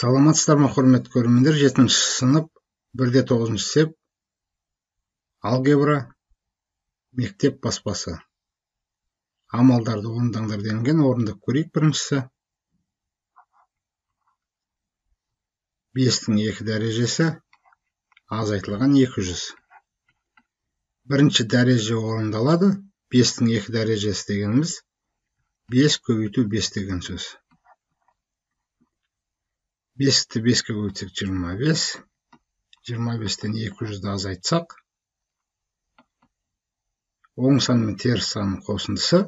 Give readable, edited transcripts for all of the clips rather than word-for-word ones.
Саламатсыздар ма, құрметті көрермендер? 7-ші сынып 1-9 сеп алгебра мектеп баспасы. Амалдарды орындаңдар делінген. Орындап көрейік. Біріншісі 5-тің 2 дәрежесі азайтылған 200. Бірінші дәреже орындалады. 5-тің 2 дәрежесі дегеніміз 5 көбейту 5 деген сөз. 5-ті 5-ке көбейтсек 25. 25-тен 200-ді азайтсақ, оң сан мен теріс санның қосындысы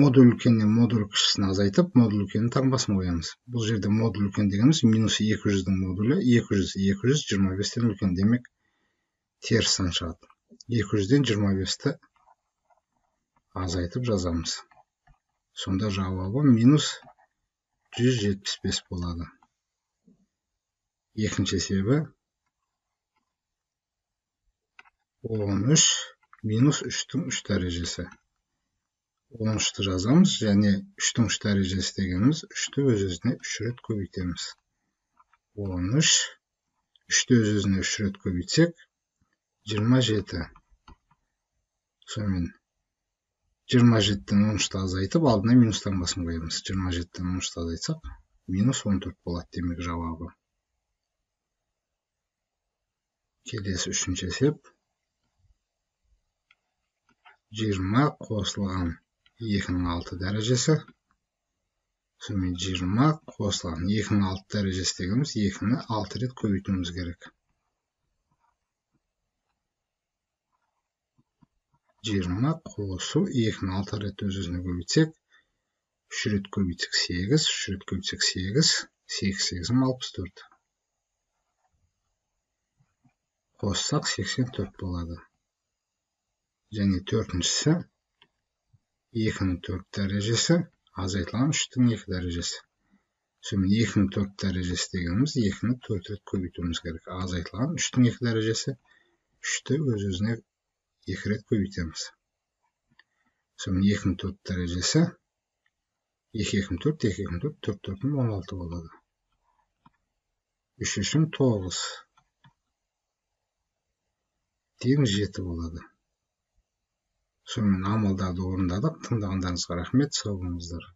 модуль үлкеннен модуль кішісін азайтып, модуль үлкеннің таңбасын қоямыз. Бұл жерде модуль үлкен дегеніміз минус 200-дің модулі 200, 25-тен үлкен, демек теріс сан шығады. 200-ден 25-ті азайтып жазамыз. Сонда жауабы минус 175 болады. Екінші есебі 13 минус 3-тің 3 дәрежесі. 13-ті жазамыз, және 3-тің 3 дәрежесі дегеніміз 3-ті өз-өзіне 3 рет көбейтеміз. 13, 3-ті өз-өзіне 3 рет көбейтсек 27. Сонымен 27-тен 13-ті азайтып, алдына минус таңбасын қоямыз. 27-тен 13-ті азайтсақ, минус 14 болады, демек жауабы. Келесі 3-ші есеп. 20 қосылған 2-ның 6 дәрежесі. Сонымен 20 қосылған 2-ның 6 дәрежесі дегеніміз 2-ні 6 рет көбейтуіміз керек. 20 қосу 2-ні 6 рет өз-өзіне көбейтсек, 3 рет көбейтсек 8, 3 рет көбейтсек 8, 8-8-ім 64. Қоссақ 84 болады. Және 4-шісі 2-ның 4 дәрежесі азайтылған 3-тің 2 дәрежесі. Сонымен 2-ның 4 дәрежесі дегеніміз 2-ні 4 рет көбейтуіміз керек. Азайтылған 3-тің 2 дәрежесі 3-ті өз-өзіне 2 рет көбейтеміз. Сонымен 2-ның 4 дәрежесі 2-2-м 4, 2-2-м 4, 4-4-м 16 болады. 3-3-м 9. Тең 7 болады. Сонымен амалдарды орындадық. Тыңдағандарыңызға рахмет. Сау болыңыздар.